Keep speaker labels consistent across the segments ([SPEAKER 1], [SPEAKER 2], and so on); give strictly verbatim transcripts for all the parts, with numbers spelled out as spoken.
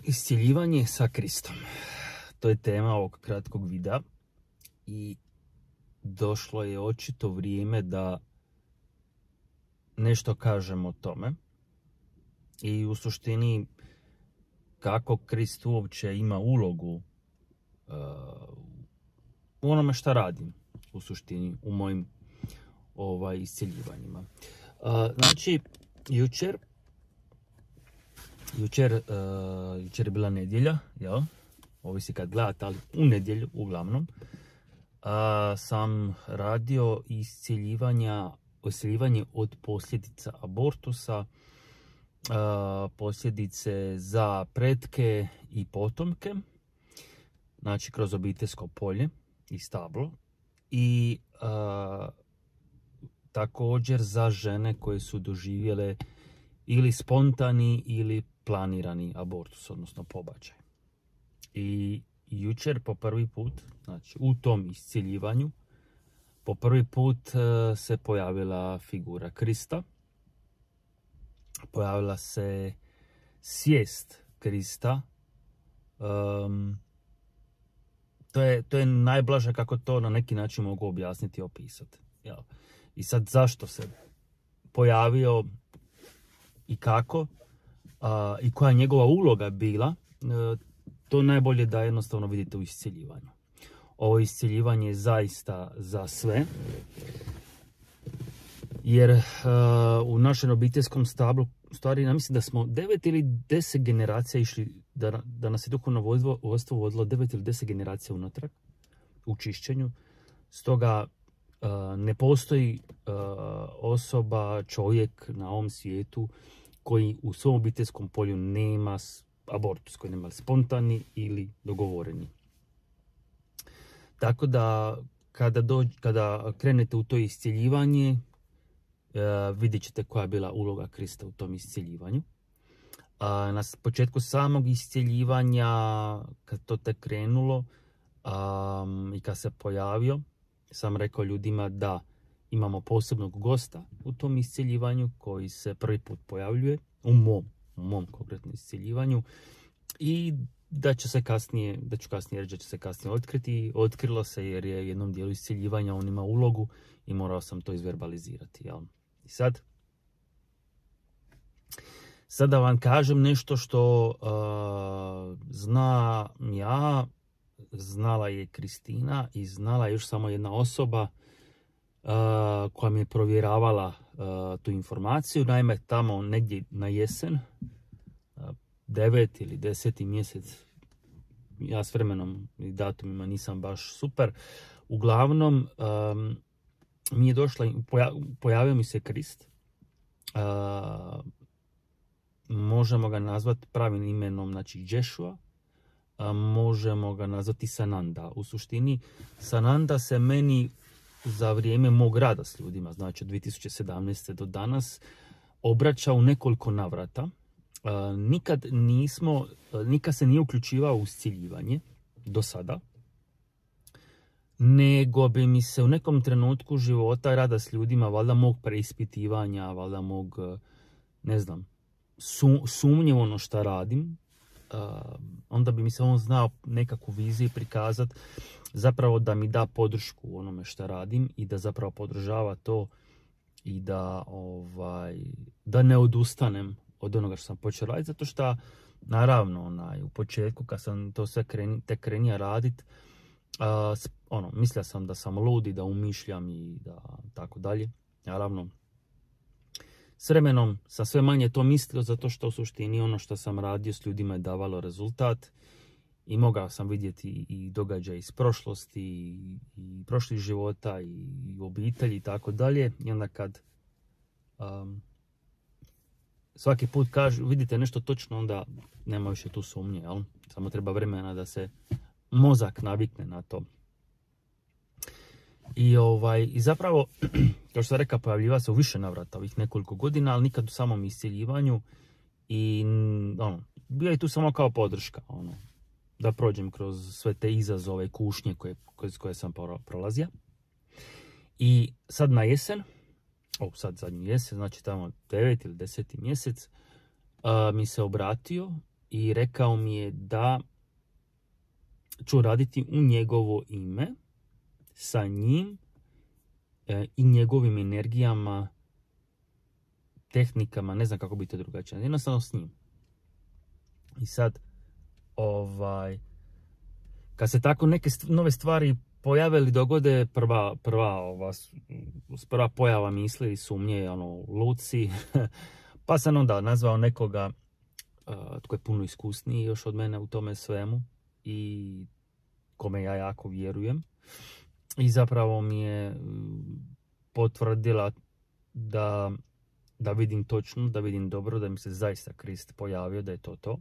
[SPEAKER 1] Iscjeljivanje sa Kristom. To je tema ovog kratkog videa i došlo je očito vrijeme da nešto kažem o tome i u suštini kako Krist uopće ima ulogu uh, u onome šta radim u suštini u mojim ovaj, iscjeljivanjima. Uh, znači, jučer Jučer, uh, jučer je bila nedjelja, jel? Ovisi kad gledate, ali u nedjelju uglavnom. Uh, sam radio iscjeljivanja, iscjeljivanje od posljedica abortusa, uh, posljedice za pretke i potomke, znači kroz obiteljsko polje i stablo. I uh, također za žene koje su doživjele ili spontani ili planirani abortus, odnosno pobačaj. I jučer po prvi put, znači u tom iscjeljivanju, po prvi put uh, se pojavila figura Krista. Pojavila se svijest Krista. Um, to, je, to je najblaže kako to na neki način mogu objasniti i opisati. Jel? I sad zašto se pojavio i kako a, i koja je njegova uloga bila, e, to najbolje da jednostavno vidite u iscjeljivanju. Ovo iscjeljivanje je zaista za sve, jer e, u našem obiteljskom stablu, u stvari, ja mislim da smo devet ili deset generacija išli, da, da nas je duhovno vodstvo vodilo devet ili deset generacija unatrag u čišćenju. Stoga e, ne postoji e, osoba, čovjek na ovom svijetu koji u svom obiteljskom polju nema abortus, koji nema spontani ili dogovoreni. Tako da kada, dođ, kada krenete u to iscjeljivanje, uh, vidjet ćete koja je bila uloga Krista u tom iscjeljivanju. Uh, na početku samog iscjeljivanja, kad to tek krenulo um, i kad se pojavio, sam rekao ljudima da imamo posebnog gosta u tom iscjeljivanju koji se prvi put pojavljuje u mom, u mom konkretnom iscjeljivanju i da će se kasnije, da ću kasnije reći da će se kasnije otkriti. Otkrilo se jer je jednom dijelu iscjeljivanja on ima ulogu i morao sam to izverbalizirati. Jel? I sad, sad da vam kažem nešto što uh, zna ja, znala je Kristina i znala je još samo jedna osoba Uh, koja mi je provjeravala uh, tu informaciju. Naime, tamo negdje na jesen, uh, devet ili deseti mjesec, ja s vremenom i datumima nisam baš super, uglavnom um, mi je došla, poja, pojavio mi se Krist. Uh, možemo ga nazvati pravim imenom, znači Jeshua. Uh, možemo ga nazvati Sananda. U suštini Sananda se meni za vrijeme mog rada s ljudima, znači od dvije tisuće sedamnaeste. do danas, obraća u nekoliko navrata. Uh, nikad nismo, uh, nikad se nije uključivao u iscjeljivanje do sada, nego bi mi se u nekom trenutku života rada s ljudima, valjda mog preispitivanja, valjda mog, uh, ne znam, su, sumnje ono šta radim, uh, onda bi mi se on znao nekakvu viziju prikazati, zapravo da mi da podršku u onome što radim i da zapravo podržava to i da, ovaj, da ne odustanem od onoga što sam počeo raditi, zato što naravno onaj, u početku kad sam to sve kreni, tek krenija radit, uh, ono, mislio sam da sam ludi, da umišljam i da tako dalje. Naravno, s vremenom sam sve manje to mislio, zato što u suštini ono što sam radio s ljudima je davalo rezultat. I mogao sam vidjeti i događaje iz prošlosti, i, i prošlih života, i, i obitelji i tako dalje. I onda kad um, svaki put kažu, vidite nešto točno, onda nema više tu sumnje. Jel? Samo treba vremena da se mozak navikne na to. I, ovaj, i zapravo, kao što sam rekao, pojavljiva se u više navrata ovih nekoliko godina, ali nikad u samom iscjeljivanju. I ono, bio je tu samo kao podrška. Ono, da prođem kroz sve te izazove, kušnje koje, koje, koje sam prolazio. I sad na jesen, o, sad zadnji jesen, znači tamo devet ili deseti mjesec, uh, mi se obratio i rekao mi je da ću raditi u njegovo ime, sa njim e, i njegovim energijama, tehnikama, ne znam kako bi to drugačije, jednostavno s njim. I sad, ovaj, kad se tako neke st- nove stvari pojave ili dogode, prva, prva, ova, prva pojava misli i sumnje je ono, luci, pa sam onda nazvao nekoga uh, tko je puno iskusniji još od mene u tome svemu i kome ja jako vjerujem. I zapravo mi je potvrdila da, da vidim točno, da vidim dobro, da mi se zaista Krist pojavio, da je to to.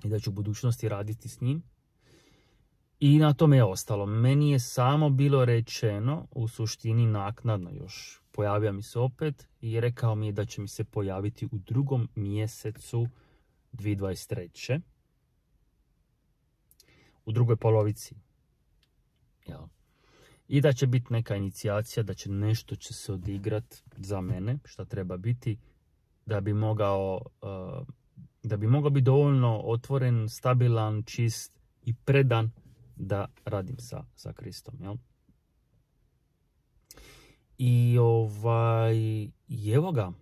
[SPEAKER 1] I da ću u budućnosti raditi s njim. I na tome je ostalo. Meni je samo bilo rečeno, u suštini naknadno još, pojavio mi se opet i rekao mi je da će mi se pojaviti u drugom mjesecu dvije tisuće dvadeset treće. U drugoj polovici. Jel? I da će biti neka inicijacija, da će nešto će se odigrat za mene, šta treba biti, da bi mogao, uh, da bi mogao biti dovoljno otvoren, stabilan, čist i predan da radim sa, sa Kristom. Jel? I ovaj, i evo ga,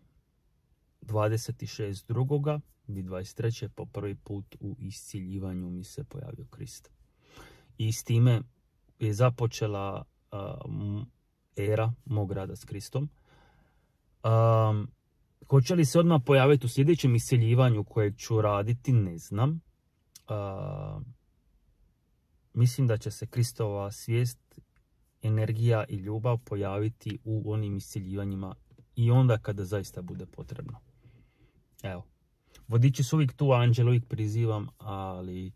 [SPEAKER 1] dvadeset šestog drugog dvije tisuće dvadeset treće po prvi put u iscjeljivanju mi se pojavio Krist. I s time je započela uh, era mog rada s Kristom. Um, hoće li se odmah pojaviti u sljedećem isceljivanju kojeg ću raditi, ne znam. Uh, mislim da će se Kristova svijest, energija i ljubav pojaviti u onim isceljivanjima i onda kada zaista bude potrebno. Evo. Vodiči su uvijek tu, anđel uvijek prizivam, ali uh,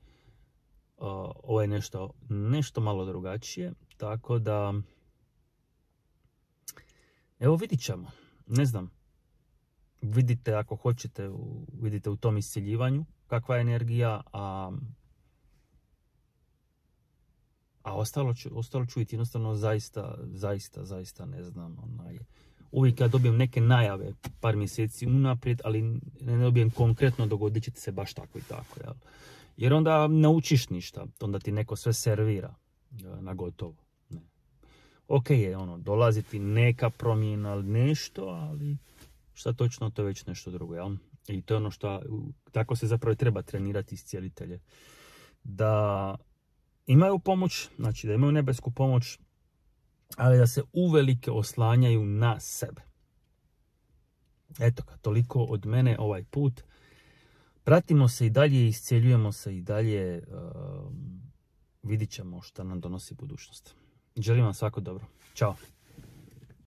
[SPEAKER 1] ovo je nešto, nešto malo drugačije. Tako da, evo vidit ćemo. Ne znam. Vidite ako hoćete, vidite u tom isceljivanju kakva je energija, a, a ostalo ću, ostalo ću vidjeti. Jednostavno zaista, zaista, zaista ne znam. Onaj, uvijek ja dobijem neke najave par mjeseci unaprijed, ali ne dobijem konkretno dogodit će se baš tako i tako. Jel? Jer onda naučiš ništa, onda ti neko sve servira na gotovo. Ne. Ok je ono, dolaziti neka promjena ili nešto, ali šta točno, to je već nešto drugo. Jel? I to je ono što, tako se zapravo treba trenirati iscijelitelje. Da imaju pomoć, znači da imaju nebesku pomoć, ali da se uvelike oslanjaju na sebe. Eto ga, toliko od mene ovaj put. Pratimo se i dalje, iscjeljujemo se i dalje. Uh, vidit ćemo šta nam donosi budućnost. Želim vam svako dobro. Ćao.